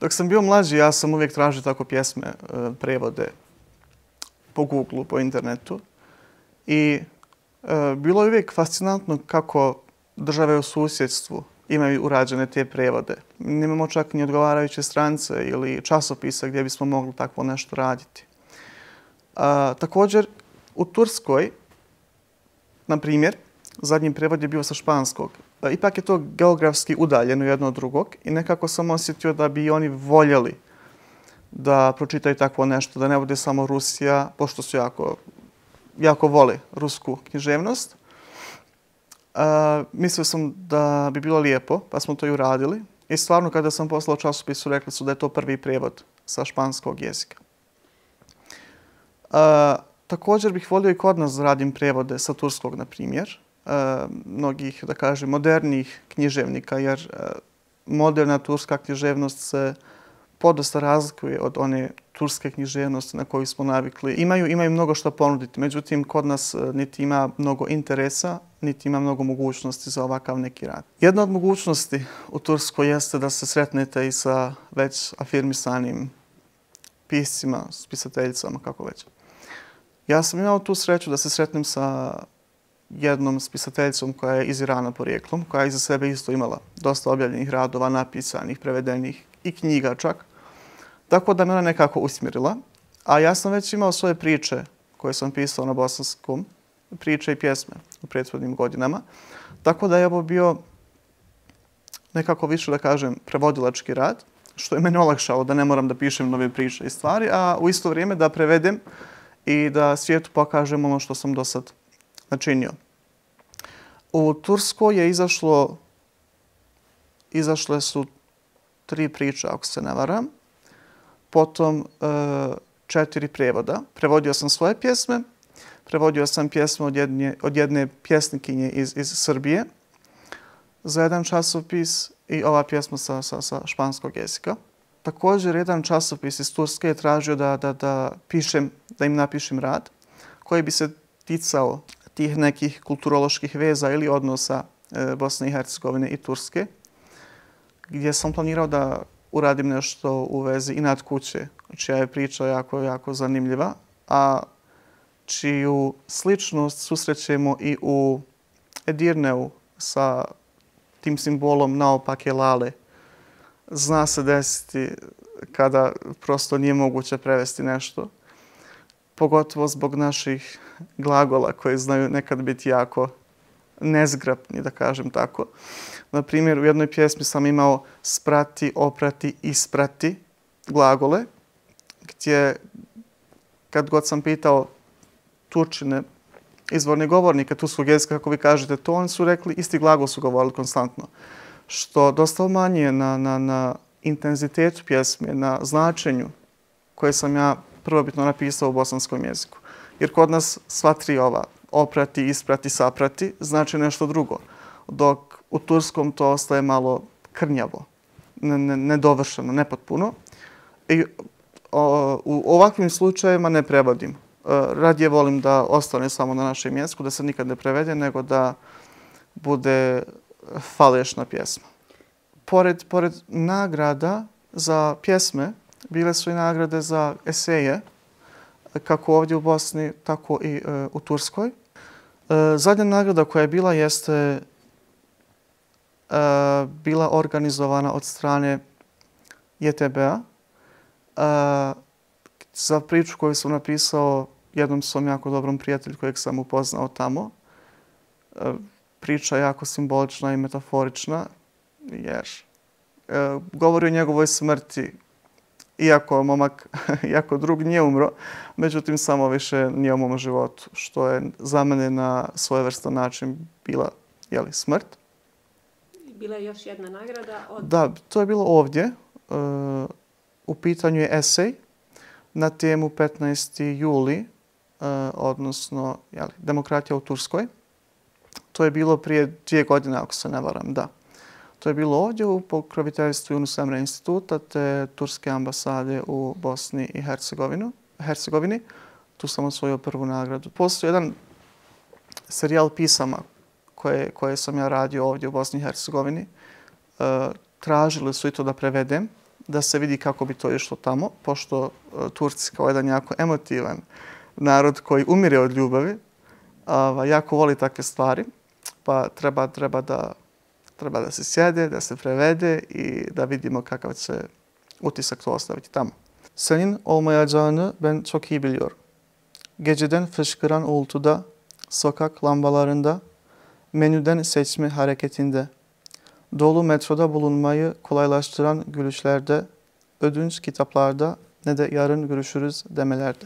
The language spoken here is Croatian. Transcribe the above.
Dok sam bio mlađi, ja sam uvijek tražio tako pjesme, prevode po Googlu, po internetu. I bilo je uvijek fascinantno kako države u susjedstvu imaju urađene te prevode. Nemamo čak ni odgovarajuće stranice ili časopisa gdje bismo mogli takvo nešto raditi. Također, u Turskoj, na primjer, zadnji prevod je bio sa španskog. Ipak je to geografski udaljeno jedno od drugog i nekako sam osjetio da bi oni voljeli da pročitaju takvo nešto, da ne bude samo Rusija, pošto su jako vole rusku književnost. Mislio sam da bi bilo lijepo, pa smo to i uradili. I stvarno, kada sam poslao časopisu, rekli su da je to prvi prevod sa španskog jezika. Također bih volio i kod nas da radim prevode sa turskog, na primjer. Mnogih, da kažem, modernih književnika, jer moderna turska književnost se podosta razlikuje od one turske književnosti na koju smo navikli. Imaju mnogo što ponuditi, međutim, kod nas niti ima mnogo interesa, niti ima mnogo mogućnosti za ovakav neki rad. Jedna od mogućnosti u Turskoj jeste da se sretnete i sa već afirmisanim piscima, spisateljicama, kako već. Ja sam imao tu sreću da se sretnem sa jednom spisateljicom koja je iz Irana porijeklom, koja je iza sebe isto imala dosta objavljenih radova, napisanih, prevedenih i knjiga čak. Tako da me ona nekako usmjerila. A ja sam već imao svoje priče koje sam pisao na bosanskom, priče i pjesme u prethodnim godinama. Tako da je ovo bio nekako više, da kažem, prevodilački rad, što je mene olakšalo da ne moram da pišem nove priče i stvari, a u isto vrijeme da prevedem i da svijetu pokažem ono što sam do sad načinio. U Turskoj je izašle su 3 priče, ako se ne varam. Potom 4 prevoda. Prevodio sam svoje pjesme. Prevodio sam pjesme od jedne pjesnikinje iz Srbije za jedan časopis i ova pjesma sa španskog jezika. Također, jedan časopis iz Turske je tražio da im napišem rad koji bi se ticao tih nekih kulturoloških veza ili odnosa Bosne i Hercegovine i Turske, gdje sam planirao da uradim nešto u vezi Inat kuće, čija je priča jako zanimljiva, a čiju sličnost susrećemo i u Edirneu sa tim simbolom naopake lale. Zna se desiti kada prosto nije moguće prevesti nešto, pogotovo zbog naših glagola koji znaju nekad biti jako nezgrapni, da kažem tako. Na primjer, u jednoj pjesmi sam imao sprati, oprati, isprati glagole, gdje kad god sam pitao Turčine, izvorne govornike turskog jezika, kako vi kažete to, oni su rekli, isti glagol su govorili konstantno. Što dosta umanjuje na intenzitetu pjesme, na značenju koje sam ja prvobitno napisao u bosanskom jeziku. Jer kod nas sva 3 ova, oprati, isprati, saprati, znači nešto drugo. Dok u turskom to ostaje malo krnjavo, nedovršeno, nepotpuno. I u ovakvim slučajevima ne prevodim. Radije volim da ostane samo na našem jeziku, da se nikad ne prevede, nego da bude falešna pjesma. Pored nagrada za pjesme, bile su i nagrade za eseje, kako ovdje u Bosni, tako i u Turskoj. Zadnja nagrada koja je bila jeste bila organizovana od strane JTB-a za priču koju sam napisao jednom svom jako dobrom prijatelju kojeg sam upoznao tamo. Priča je jako simbolična i metaforična, jer govori o njegovoj smrti, iako momak, iako drug nije umro, međutim samo više nije u mom životu, što je za mene na svojevrstan način bila smrt. Bila je još jedna nagrada od... Da, to je bilo ovdje. U pitanju je esej na temu 15. juli, odnosno demokratija u Turskoj. To je bilo prije 2 godine, ako se ne varam, da. To je bilo ovdje u pokroviteljstvu Yunus Emre instituta te Turske ambasade u Bosni i Hercegovini. Tu sam osvojio prvu nagradu. Postoji jedan serijal pisama koje sam ja radio ovdje u Bosni i Hercegovini. Tražili su i to da prevedem da se vidi kako bi to išlo tamo, pošto Turci kao jedan jako emotivan narod koji umire od ljubavi, jako voli takve stvari, pa treba da se sjede, da se prevede i da vidimo kakav će utisak to ostaviti tamo. Senin olmayacağını ben çok iyi biliyorum. Geceden fışkıran uğultuda, sokak lambalarında, menüden seçme hareketinde, dolu metroda bulunmayı kolaylaştıran gülüşlerde, ödünç kitaplarda ne de yarın görüşürüz demelerde.